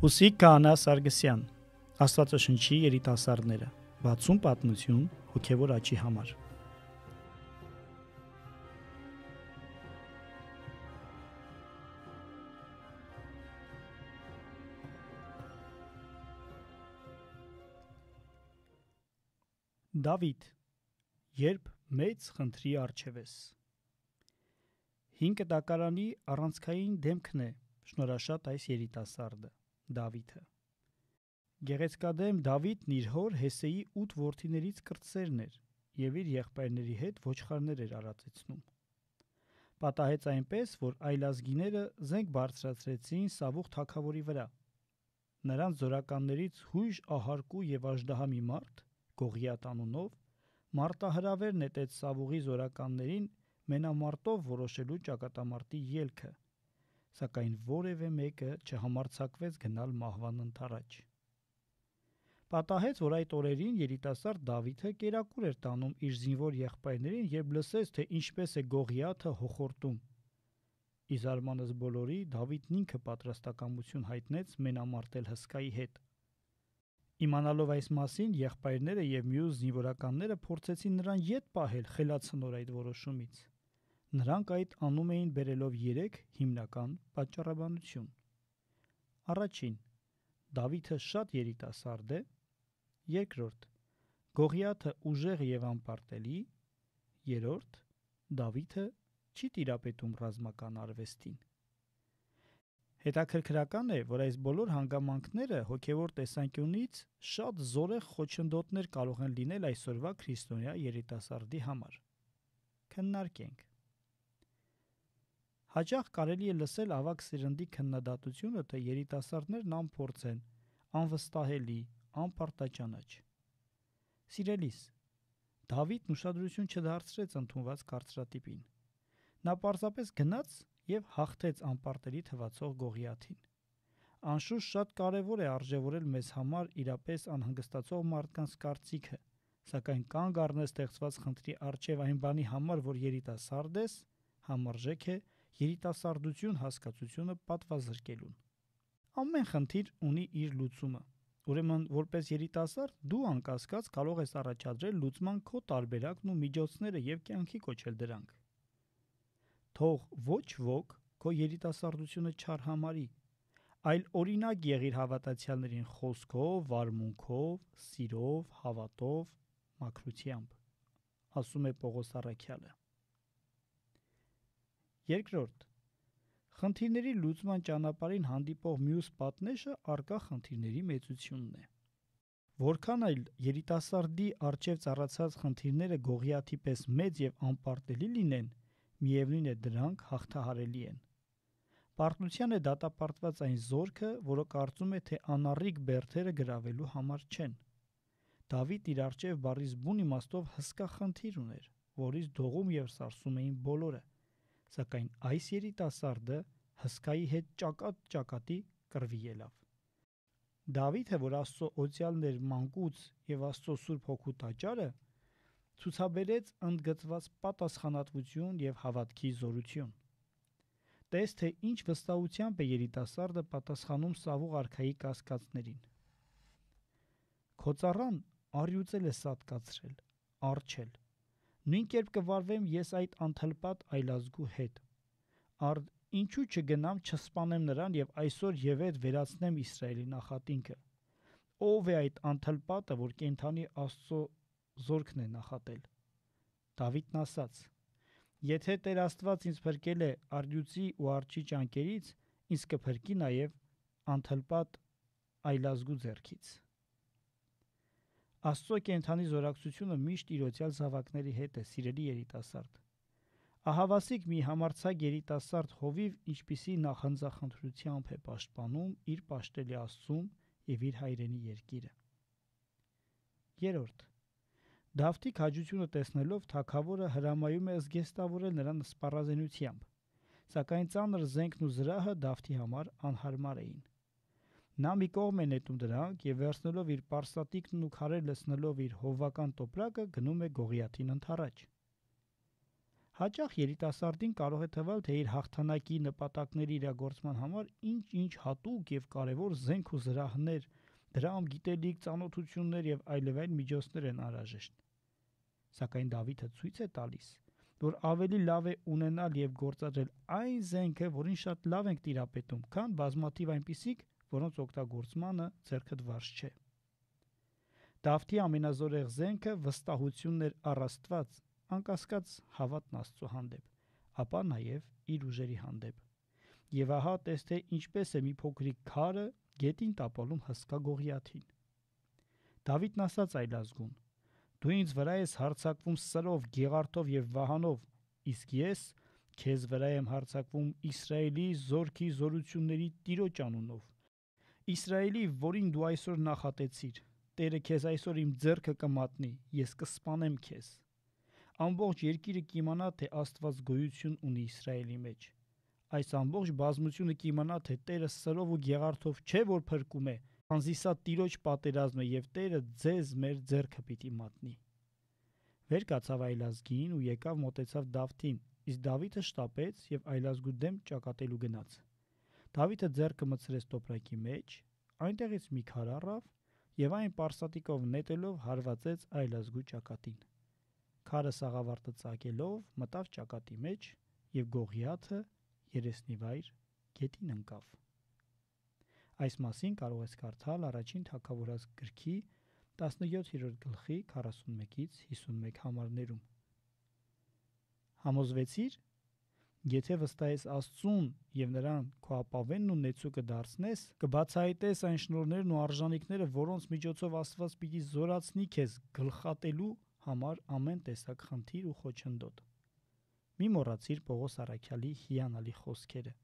Հուսիկ Քահանա Սարգսյան, Աստվածաշնչի երիտասարդները, 60 պատմություն հոգևոր աճի համար։ Դավիթ, երբ մեծ խնդրի առջև ես։ Հին կտակարանի առանցքային դեմքն է շնորհաշատ այս երիտասարդը, Դավիթը։ Գեղեցկադեմ Դավիթն իր հոր Հեսեի 8 որդիներից կրտսերն էր և իր եղբայրների հետ ոչխարներ էր արածեցնում։ Պատահեց այնպես, որ այլազգիները զենք բարձրացրեցին Սավուղ թագավորի վրա։ Նրանց զորականներից հույժ ահարկու և աժդահա մի մարդ, Գողիաթ անունով, մարտահրավեր նետեց Սավուղի զորականներին մենամարտով որոշելու ճակատամարտի ելքը, սակայն որևէ մեկը չհամարձակվեց գնալ մահվան ընդառաջ։ Պատահեց, որ այդ օրերին երիտասարդ Դավիթը կերակուր էր տանում իր զինվոր եղբայրներին, երբ լսեց, թե ինչպես է Գողիաթը հոխորտում։ Ի զարմանս բոլորի, Դավիթն ինքը պատրաստակամություն հայտնեց մենամարտել հսկայի հետ։ Իմանալով այս մասին, եղբայրները և մյուս զինվորականները փորձեցին նրան ետ պահել խելացնոր այդ որոշումից։ Նրանք այդ անում էին բերելով 3 հիմնական պատճառաբանություն։ Առաջին, Դավիթը շատ երիտասարդ է։ Երկրորդ, Գողիաթը ուժեղ և անպարտելի։ Երրորդ, Դավիթը չի տիրապետում ռազմական արվեստին։ Հետաքրքրական է, որ այս բոլոր հանգամանքները հոգևոր տեսանկյունից շատ զորեղ խոչընդոտներ կարող են լինել այսօրվա քրիստոնյա երիտասարդի համար։ Քննարկենք։ Հաճախ կարելի է լսել ավագ սերնդի քննադատությունը, թե երիտասարդներն անփորձ են, անվստահելի, անպարտաճանաչ։ Սիրելիս, Դավիթն ուշադրություն չդարձրեց ընդունված կարծրատիպին։ Նա պարզապես գնաց և հաղթեց անպարտելի թվացող Գողիաթին։ Անշուշտ շատ կարևոր է արժևորել մեզ համար իրապես անհանգստացող մարդկանց կարծիքը, սակայն կանգ առնել ստեղծված խնդրի առջև այն բանի համար, որ երիտասարդ ես, համարժեք է երիտասարդություն հասկացությունը պատվազրկելուն։ Ամեն խնդիր ունի իր լուծումը։ Ուրեմն, որպես երիտասարդ, դու անկասկած կարող ես առաջադրել լուծման քո տարբերակն ու միջոցները և կյանքի կոչել դրանք։ Թող ոչ ոք քո երիտասարդությունը չարհամարի, այլ օրինակ եղիր հավատացյալներին խոսքով, վարմունքով, սիրով, հավատով, մաքրությամբ, ասում է Պողոս առաքյալը։ Երկրորդ, խնդիրների լուծման ճանապարհին հանդիպող մյուս պատնեշը առկա խնդիրների մեծությունն է։ Որքան այլ երիտասարդի առջև ծառացած խնդիրները Գողիաթի պես մեծ և անպարտելի լինեն, միևնույն է դրանք հաղթահարելի են։ Պարտության է դատապարտված այն զորքը, որը կարծում է, թե անառիկ բերդերը գրավելու համար չեն։ Դավիթ իր առջև բառից բուն իմաստով հսկա խնդիր ուներ, որից դողում և սարսում էին բոլորը, սակայն այս երիտասարդը հսկայի հետ ճակատ-ճակատի կռվի ելավ։ Դավիթը, որ Աստծո օծյալն էր մանկուց և Աստծո Սուրբ Հոգու տաճարը, ցուցաբերեց ընդգծված պատասխանատվություն և հավատքի զորություն։ Տես, թե ինչ վստահությամբ է երիտասարդը պատասխանում Սավուղ արքայի կասկածներին։ Քո ծառան առյուծել է սատկացրել, առջել։ Նույն կերպ կվարվեմ ես այդ անթլպատ այլազգու հետ։ Արդ ինչու չգնամ չսպանեմ նրան և այսօր ևեթ վերացնեմ Իսրայելի նախատինքը։ Ո՞վ է այդ անթլպատը, որ կենդանի Աստծո զորքն է նախատել։ Դավիթն ասաց. Եթե Տեր Աստված ինձ փրկել է առյուծի ու արջի ճանկերից, ինձ կփրկի նաև անթլպատ այլազգու ձեռքից։ Աստծո կենդանի զորակցությունը միշտ իր օծյալ զավակների հետ է, սիրելի երիտասարդ։ Ահավասիկ մի համարձակ երիտասարդ հովիվ ինչպիսի նախանձախնդրությամբ է պաշտպանում իր պաշտելի Աստծուն և իր հայրենի երկիրը։ Երրորդ, Դավթի քաջությունը տեսնելով թագավորը հրամայում է զգեստավորել նրան սպառազինությամբ, սակայն ծանր զենքն ու զրահը Դավթի համար անհարմար էին։ Նա մի կողմ է նետում դրանք և վերցնելով իր պարսատիկն ու քարեր լցնելով իր հովվական տոպրակը գնում է Գողիաթին ընդառաջ։ Հաճախ երիտասարդին կարող է թվալ, թե իր հաղթանակի նպատակների իրագործման համար ինչ-ինչ հատուկ եւ կարեւոր զենք ու զրահներ, դրամ, գիտելիք, ծանոթություններ եւ այլևայլ միջոցներ են անհրաժեշտ։ Սակայն Դավիթը ցույց է տալիս, որ ավելի լավ է ունենալ եւ գործադրել այն զենքը, որին շատ լավ ենք տիրապետում, քան բազմաթիվ այնպիսիք, որոնց օգտագործմանը ձեռքդ վարժ չէ։ Դավթի ամենազորեղ զենքը վստահությունն էր առ Աստված, անկասկած հավատն Աստծո հանդեպ, ապա նաև իր ուժերի հանդեպ։ Եվ ահա տես թե ինչպես է մի փոքրիկ քարը գետին տապալում հսկա Գողիաթին։ Դավիթն ասաց այլազգուն. «Դու ինձ վրա ես հարձակվում սրով, գեղարդով եւ վահանով, իսկ ես քեզ վրա եմ հարձակվում Իսրայելի զորքի զորությունների Տիրոջ անունով։ Իսրայելի, որին դու այսօր նախատեցիր, Տերը քեզ այսօր իմ ձեռքը կմատնի, ես կսպանեմ քեզ։ Ամբողջ երկիրը կիմանա, թե Աստված գոյություն ունի Իսրայելի մեջ։ Այս ամբողջ բազմությունը կիմանա, թե Տերը սրով ու գեղարդով չէ, որ փրկում է, քանզի սա Տիրոջ պատերազմը եւ Տերը ձեզ մեր ձեռքը պիտի մատնի»։ Վեր կացավ այլազգին ու եկավ մոտեցավ Դավթին, իսկ Դավիթը շտապեց եւ այլազգու դեմ ճակատելու գնաց։ Դավիթը ձեռքը մտցրեց տոպրակի մեջ, այնտեղից մի քար առավ եւ այն պարսատիկով նետելով հարվածեց այլազգու ճակատին։ Քարը սաղավարտը ծակելով մտավ ճակատի մեջ եւ Գողիաթը երեսնիվայր գետին ընկավ։ Այս մասին կարող ես կարդալ Առաջին Թագավորաց գրքի 17-րդ գլխի 41-ից 51 համարներում։ Համոզվեցիր, եթե վստահես Աստծուն եւ նրան քո ապավենն ու նեցուկը դարձնես, կբացահայտես այն շնորհներն ու արժանինքները, որոնց միջոցով Աստված պիտի զորացնի քեզ գլխատելու համար ամեն տեսակ խնդիր ու խոչընդոտ։ Մի մոռացիր Պողոս առաքյալի հիանալի խոսքերը.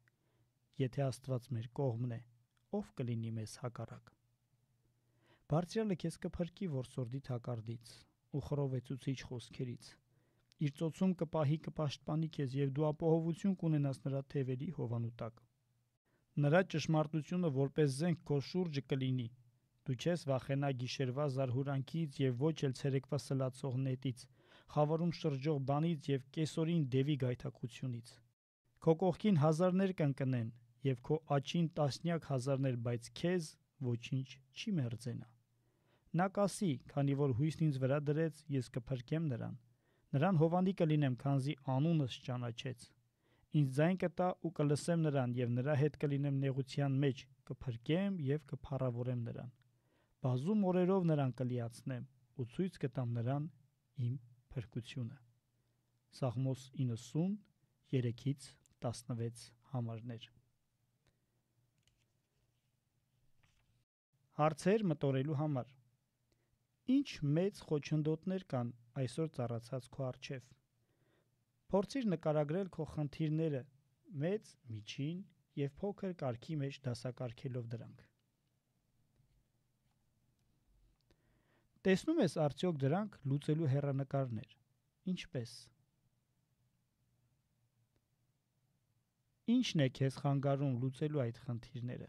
Եթե Աստված մեր կողմն է, ով կլինի մեզ հակառակ։ Բարձրյալը քեզ կփրկի որսորդի թակարդից ու խռովեցուցիչ խոսքերից։ Իր ծոցում կպահի, կպաշտպանի քեզ եւ դու ապահովություն կունենաս նրա թևերի հովանու տակ։ Նրա ճշմարտությունը որպես զենք քո շուրջը կլինի։ Դու չես վախենա գիշերվա զարհուրանքից եւ ոչ էլ ցերեկվա սլացող նետից, խավարում շրջող բանից եւ կեսօրին դևի գայթակղությունից։ Քո կողքին հազարներ կընկնեն եւ քո աջին տասնյակ հազարներ, բայց քեզ ոչինչ չի մերձենա։ Նա կասի, քանի որ հույսն ինձ վրա դրեց, ես կփրկեմ նրան։ Նրան հովանի կլինեմ, քանզի անունս ճանաչեց։ Ինձ ձայն կտա ու կլսեմ նրան եւ նրա հետ կլինեմ նեղության մեջ, կփրկեմ եւ կփառավորեմ նրան։ Բազում օրերով նրան կլիացնեմ ու ցույց կտամ նրան իմ փրկությունը։ Սաղմոս 90 3-ից 16 համարներ։ Հարցեր մտորելու համար։ Ինչ մեծ խոչընդոտներ կան այսօր ծառացած քո առջև։ Փորձիր նկարագրել քո խնդիրները մեծ, միջին եւ փոքր կարգի մեջ դասակարգելով դրանք։ Տեսնում ես արդյոք դրանք լուծելու հեռանկարներ։ Ինչպես։ Ինչն է քեզ խանգարում լուծելու այդ խնդիրները։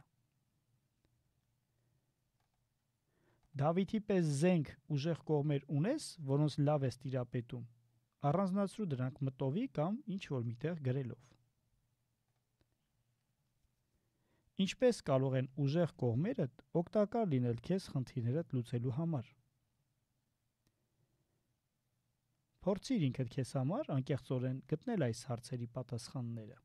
Դավիթի պես զենք ուժեղ կողմեր ունես, որոնց լավ ես տիրապետում։ Առանձնացրու դրանք մտովի կամ ինչ որ միտեղ գրելով։ Ինչպես կարող են ուժեղ կողմերդ օգտակար լինել քեզ խնդիրներդ լուծելու համար։ Փորձիր ինքդ քեզ համար անկեղծորեն գտնել այս հարցերի պատասխանները։